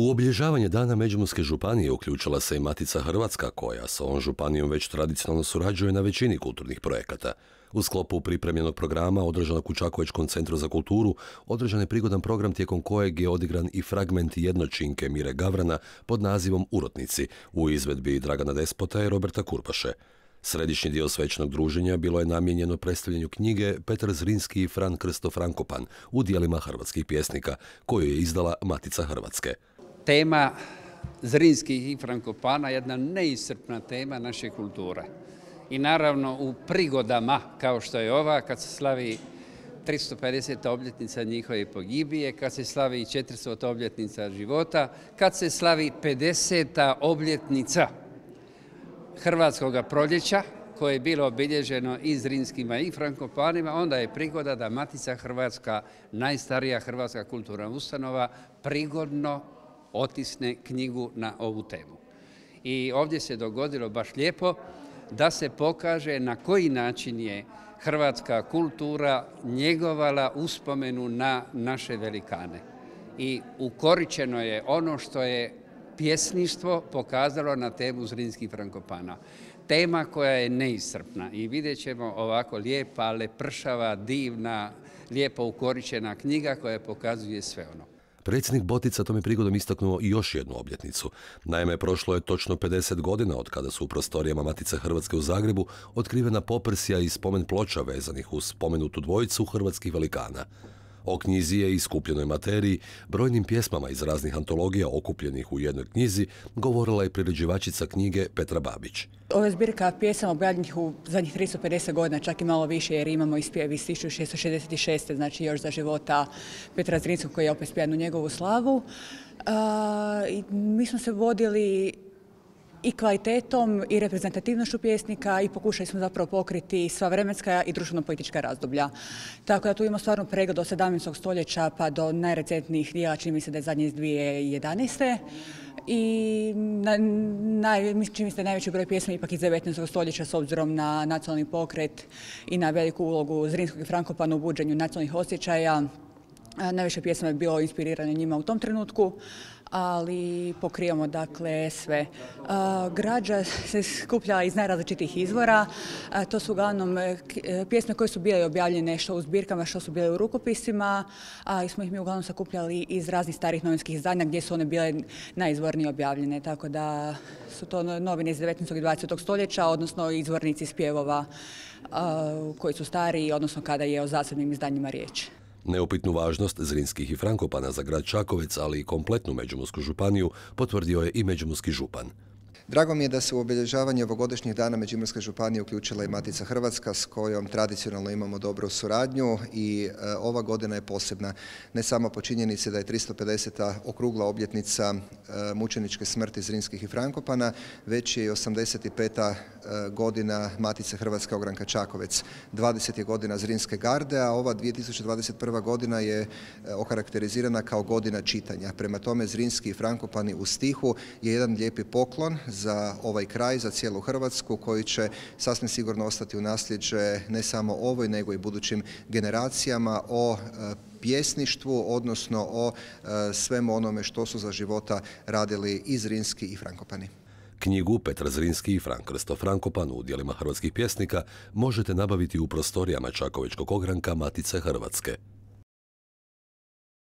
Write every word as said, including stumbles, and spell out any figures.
U obilježavanje Dana Međimurske županije uključila se i Matica Hrvatska, koja s ovom županijom već tradicionalno surađuje na većini kulturnih projekata. U sklopu pripremljenog programa, održanog u Čakovečkom centru za kulturu, održan je prigodan program tijekom kojeg je odigran i fragment jednočinke Mire Gavrana pod nazivom Urotnici u izvedbi Dragana Despota i Roberta Kurpaše. Središnji dio svečanog druženja bilo je namijenjeno predstavljanju knjige Petar Zrinski i Fran Krsto Frankopan u dijelima hrvatskih pjesnika, koju je izdala Matica Hrvatske. Tema Zrinskih i Frankopana je jedna neiscrpna tema naše kulture. I naravno u prigodama kao što je ova, kad se slavi tristo pedeseta obljetnica njihove pogibije, kad se slavi četiristota obljetnica života, kad se slavi pedeseta obljetnica Hrvatskog proljeća, koje je bilo obilježeno i Zrinskima i Frankopanima, onda je prigoda da Matica Hrvatska, najstarija hrvatska kulturna ustanova, prigodno otisne knjigu na ovu temu. I ovdje se dogodilo baš lijepo da se pokaže na koji način je hrvatska kultura njegovala uspomenu na naše velikane. I ukoričeno je ono što je pjesništvo pokazalo na temu Zrinskih Frankopana. Tema koja je neiscrpna i vidjet ćemo ovako lijepa, lepršava, divna, lijepo ukoričena knjiga koja pokazuje sve ono. Predsjednik Botica tom je prigodom istaknuo i još jednu obljetnicu. Naime, prošlo je točno pedeset godina od kada su u prostorijama Matice Hrvatske u Zagrebu otkrivena poprsja i spomen ploča vezanih uz spomenutu dvojicu hrvatskih velikana. O knjizi je i skupljenoj materiji, brojnim pjesmama iz raznih antologija okupljenih u jednoj knjizi, govorila je priređivačica knjige Petra Babić. Ovo je zbirka pjesama objavljenih u zadnjih tristo pedeset godina, čak i malo više, jer imamo i spjev iz tisuću šesto šezdeset šeste. znači još za života Petra Zrinskog, koji je opet spjevan u njegovu slavu. A, i mi smo se vodili i kvalitetom i reprezentativnošću pjesnika i pokušali smo zapravo pokriti sva vremenska i društveno-politička razdoblja. Tako da tu imamo stvarno pregled od sedamnaestog stoljeća pa do najrecentnijih dijela, čini mi se da je zadnje iz dvije tisuće jedanaeste. I na, naj, čini mi se da je najveći broj pjesma ipak iz devetnaestog stoljeća s obzirom na nacionalni pokret i na veliku ulogu Zrinskog i Frankopana u buđenju nacionalnih osjećaja. Najviše pjesma je bilo inspirirano njima u tom trenutku, ali pokrivamo dakle sve. Građa se skuplja iz najrazličitijih izvora. To su uglavnom pjesme koje su bile objavljene što u zbirkama, što su bile u rukopisima, a smo ih mi uglavnom sakupljali iz raznih starih novinskih izdanja gdje su one bile najizvornije objavljene. Tako da su to novine iz devetnaestog i dvadesetog stoljeća, odnosno izvornici spjevova koji su stariji, odnosno kada je o zasebnim izdanjima riječ. Neupitnu važnost Zrinskih i Frankopana za grad Čakovec, ali i kompletnu Međimursku županiju, potvrdio je i međimurski župan. Drago mi je da se u obilježavanje ovogodišnjih dana Međimurske županije uključila i Matica Hrvatska, s kojom tradicionalno imamo dobru suradnju i e, ova godina je posebna. Ne samo po činjenici da je tristo pedeseta okrugla obljetnica e, mučeničke smrti Zrinskih i Frankopana, već je i osamdeset peta e, godina Matice Hrvatske Ogranka Čakovec. dvadeset je godina Zrinske garde, a ova dvije tisuće dvadeset prva godina je e, okarakterizirana kao godina čitanja. Prema tome, Zrinski i Frankopani u stihu je jedan lijepi poklon za ovaj kraj, za cijelu Hrvatsku, koji će sasvim sigurno ostati u nasljeđe ne samo ovoj, nego i budućim generacijama o e, pjesništvu, odnosno o e, svemu onome što su za života radili i Zrinski i Frankopani. Knjigu Petar Zrinski i Fran Krsto Frankopan u dijelima hrvatskih pjesnika možete nabaviti u prostorijama Čakovečkog ogranka Matice Hrvatske.